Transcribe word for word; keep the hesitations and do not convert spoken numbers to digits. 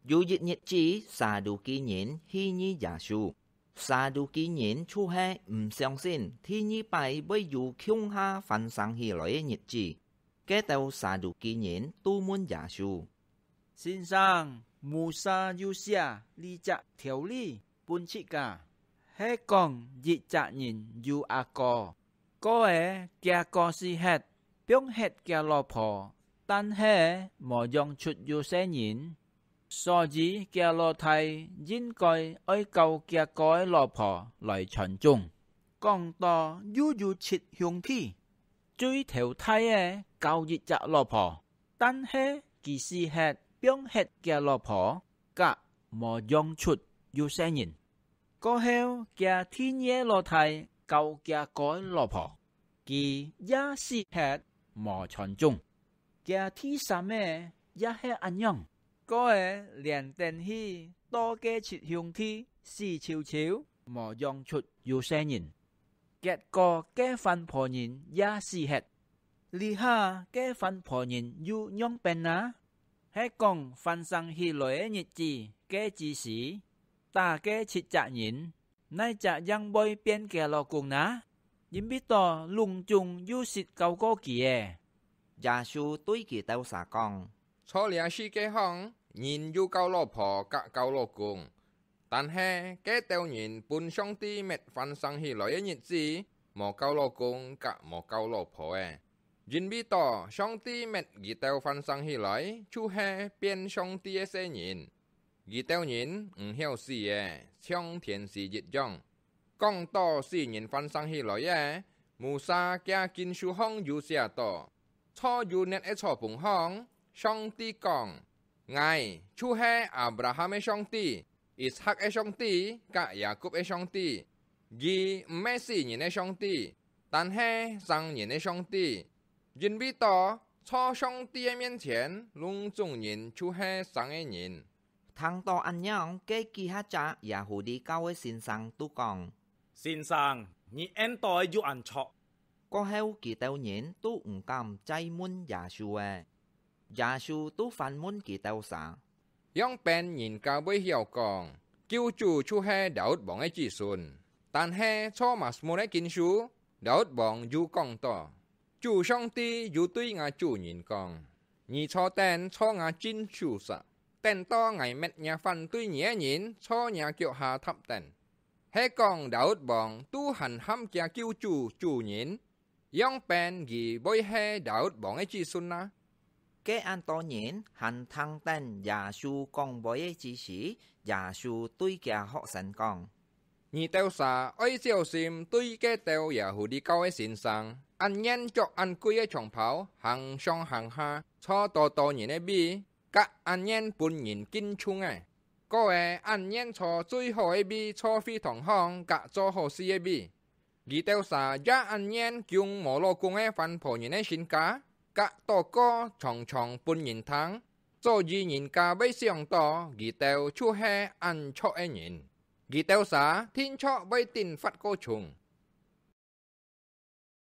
有一日子，撒都基人戲弄耶穌。撒都基人就係毋相信第二擺會有共下翻生起來个日子。該兜撒都基人都問耶穌：「先生，Musa有寫這隻條例分自家，係講一隻人有阿哥，過仔厥哥死忒，放忒厥老婆，但係無養出有細人。所以厥老弟應該愛交厥哥个老婆來傳宗。」講到又有七兄弟，最頭大个交一隻老婆，但係佢死忒，放忒厥老婆，甲無養出有細人。過後，厥第二个老弟交厥哥个老婆，佢也死忒，無傳宗。厥第三个也係恁樣。過仔連等去到該七兄弟死泅泅，無養出有細人。結果該番婆人也死忒。這下該番婆人又仰般啊？係講翻生起來个日子，該之時，打該七隻人，哪隻正會變厥老公啊？因為到攏總又識交過佢仔。耶穌對佢兜儕講：「在這世界項，人有交老婆甲交老公，但係該兜人分上帝搣翻生起來个日子，無交老公甲無交老婆仔。因為到上帝搣佢兜翻生起來，就係變上帝个細人。佢兜人毋曉死仔，像天使一樣。」講到死人翻生起來仔，Musa厥經書項有寫到：「在有net个草棚項，上帝講： 𠊎就係亞伯拉罕个上帝、以撒个上帝甲雅各个上帝。」佢毋係死人个上帝，但係生人个上帝。因為到在上帝个面前，攏總人就係生个人。聽到恁樣，該幾下隻耶戶裡教个先生都講：「先生，你應到有恁著。」過後，佢兜人都毋敢再問耶穌仔。耶穌都反問佢兜儕：「仰般人家會曉講，救主就係Daud王个子孫？但係在Mazmur个經書，Daud王有講到： 主上帝有對吾主人講：『你坐等在吾正手儕，等到𠊎搣若反對你个人在若腳下踏等。』」係講Daud王都還喊厥救主主人，仰般佢會係Daud王个子孫啊？該恁多人還聽等耶穌講話个之時，耶穌對厥學生講： 「你兜儕愛小心對該兜耶戶裡教个先生，恁願著恁貴个長袍，行上行下，坐多多人个位，甲恁願分人敬重个。過仔恁願坐最好个位，坐會堂項甲做好事个位。佢兜儕也恁願供無老公个番婆人个身價，甲禱告常常分人聽。」所以人家會想到佢兜就係恁著个人。 佢兜儕定著會頂罰過重，